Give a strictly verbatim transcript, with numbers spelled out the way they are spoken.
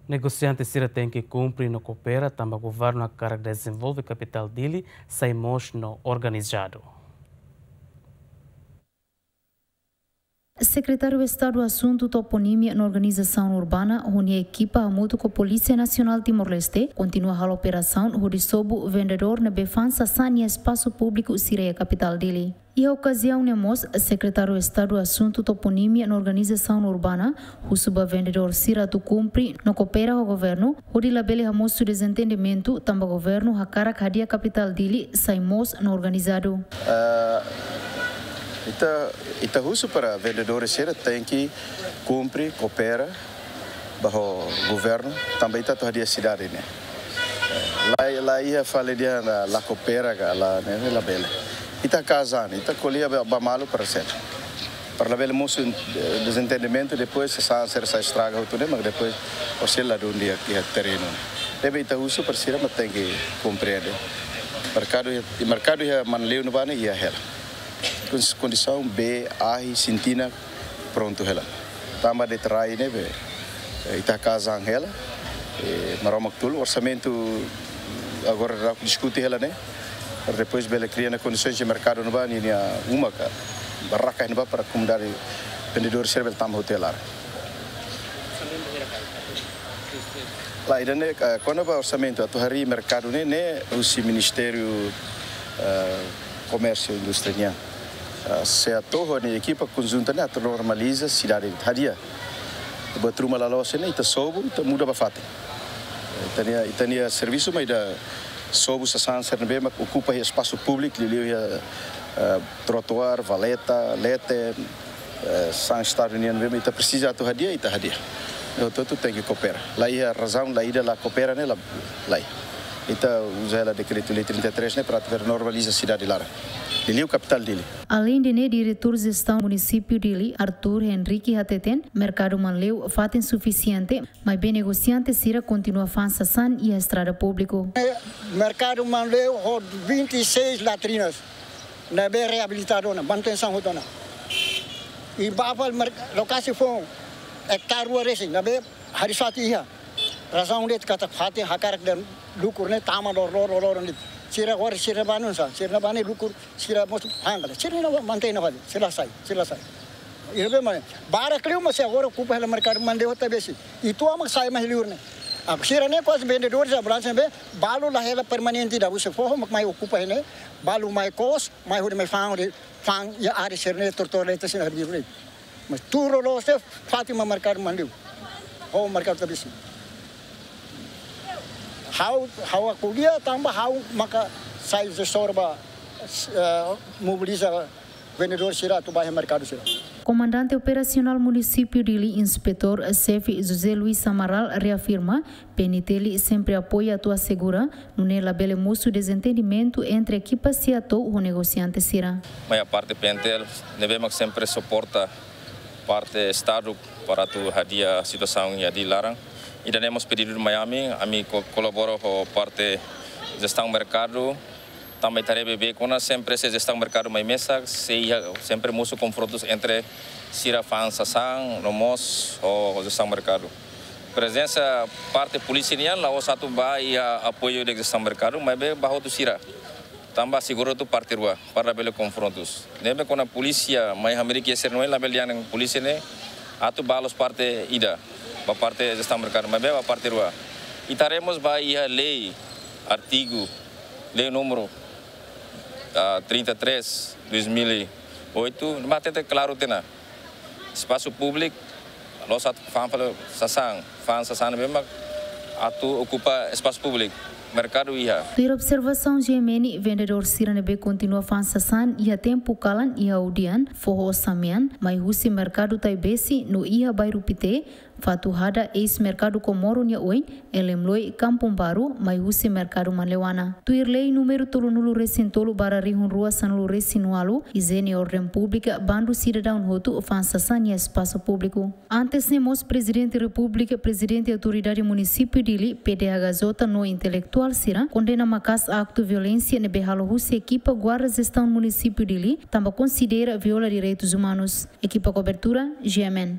Negosiante sira tenke kumpre no koopera tanba governu hakarak dezenvolve kapitál Dili sai moos no organizadu. Sekretáriu Estadu Asuntu Toponímia no Organizasaun Urbana, ho nia ekipa hamutuk ho Polísia Nasionál Timor-Leste, kontinua halo operasaun hodi sobu vendedór ne'ebé fa'an sasán iha espasu públiku sira iha kapitál Dili. Iha okaziaun ne'e mós, Sekretáriu Estadu Asuntu Toponímia no Organizasaun Urbana husu ba vendedór sira atu kumpre no koopera ho governu, hodi labele hamosu dezentendimentu, tanba governu hakarak hadi'a kapitál Dili sai moos no organizadu. Ah, ita, ita husu para vendedores sira tenke kumpre, koopera ba ho governu, tanba ita atu hadi'a sidade ne'e. Eh, la, la iha fali dehan la, la koopera ka la, ne'e, ne'e labele. Ita kazan, ita ko'alia ba, ba malu para sira. Para labele mosu, eh, dezentendimentu, depois sasán sira sai estraga hotu ne'e, mas depois orsida la dun di'ak iha terrenu. Ne'ebé ita husu para sira mak tenke komprende. Merkadu, merkadu iha Manleu ne'ebá ne'e iha hela. Kon-, kondisaun bee, ahi, sintina, prontu hela. Tanba de'it rai ne'ebé, eh, ita kazan hela, eh, Maromak tulun, orsamentu agora ita diskute hela ne'e, para depois bele kria ona kondisoens de merkadu ne'ebá, ninia uma ka barraka ne'ebá para komunidade vendedór sira bele tama hotu hela. La, ida-ne'e, eh, kona-ba orsamentu atu harii merkadu ne'e, ne'e husi Ministériu, eh, Komérsiu Indústria nian. Eh, SEATOU ho nia ekipa konjunta ne'e atu normaliza sidade, hadi'a. Buat ruma la loos ne'e, ita sobu, ita muda ba fatin. Ita-nia, ita-nia servisu mak ida sobu sasán sira ne'ebé mak okupa iha espasu públiku, liuliu iha, eh, trotoar, valeta, leten, eh, sasán Estadu nian ne'ebé mak ita presiza atu hadi'a, ita hadi'a. Entaun, ita tenke koopera. La iha razaun, la ida la koopera ne'e, la, lae. Ita uza hela dekretu-lei trinta e três ne'e para atu normaliza sidade laran. Liuliu kapitál Dili. Aleinde ne'e, Diretór Jestaun Munisípiu Dili, Arthur Henrique hateten, merkadu Manleu fatin sufisiente, maibé negosiante sira kontinua fa'an sasán iha estrada públiku. Merkadu Manleu ho vinte e seis latrinas ne'ebé reabilitadu ona, manutensaun hotu ona. I ba fali mer-, lokasi foun ektare rua resin, ne'ebé haris fatin iha. Razaun de'it katak fatin hakarak dehan lukur ne'e tama lor, lor, lor, lor, ne'e. Sira agora sira banu sa, sira banu lukur, sira mós hangala. Sira ne'e mantein ona fali, sira la sai, sira la sai. Ida be mai, barak liu mak sei agora okupa hela merkadu Manleu tabesi. Ita mak sai mai liur ne'e. Agora sira ne'e kuaze vendedores ambulánsia ne'ebé, balu la hela permanente ida, husi foho mak mai okupa ne'e, balu mai kos, mai hodi mai fa'an, hodi fa'an iha área sira ne'e, tortor leta sira ne'e. Mas tuur loloos ne'e fatin mak merkadu Manleu. Ho merkadu tabesi. Ha'u, ha'u ko'alia tanba ha'u maka sai jestór ba, eh, mobiliza vendedór sira atu ba iha merkadu sira. Komandante Operasionál Munisípiu Dili, Inspetór Xefe José Luis Amaral reafirma, PNTL sempre apoia atu asegura nune'e labele mosu dezentendimentu entre ekipa SEATOU ho negosiante sira. Mai parte PNTL ne'ebé mak sempre suporta parte Estadu para atu hadi'a situasaun iha Dili laran. Ida-ne'e mós pedidu mai ami, ami ko-, kolabora ho parte jestaun merkadu, tanba ita haree beibeik ona sempre se jestaun merkadu mai mesak, sei iha sempre mosu konfrontus entre sira fa'an sasán no mós ho jestaun merkadu. Prezensa parte polísia nian la'ós atu ba iha apoiu de jestaun merkadu, maibé ba hotu sira. Tanba asegura hotu parte rua, para labele konfrontus. Ne'ebé kona polísia mai hamriik iha sira-nia oin, labele dehan polísia ne'e atu ba loos parte ida, ba parte jestaun merkadu, maibé ba parte rua. Ita haree mós ba iha lei, artigu, lei númeru, ah, trinta e três, dois mil e oito, ne'ebé hateten klaru tiha ona. Espasu públiku, la'ós atu fa'an fali sasán, fa'an sasán ne'ebé mak atu okupa espasu públiku, merkadu iha. Tuir observasaun GMN, vendedór sira ne'ebé kontinua fa'an sasán iha tempu kalan iha Udian, foho Samian, mai husi merkadu Taibesi no iha bairru Pite, Fatuhada, eis merkadu Komoro nia oin, Elemloi, Kampung Baru, mai husi merkadu Manleuana. Tuir lei númeru tolunulu resin tolu barra rihun rua sanulu resin ualu, ijiene orden públika, bandu sidadaun hotu fa'an sasán iha espasu públiku. Antes ne'e mós Prezidente Repúblika, Prezidente Autoridade Munisípiu Dili, PDHJ no intelektuál sira kondena maka'as aktu violénsia ne'ebé halo husi ekipa Guarda Jestaun Munisípiu Dili, tanba konsidera viola direitus umanus. Ekipa kobertura, GMN.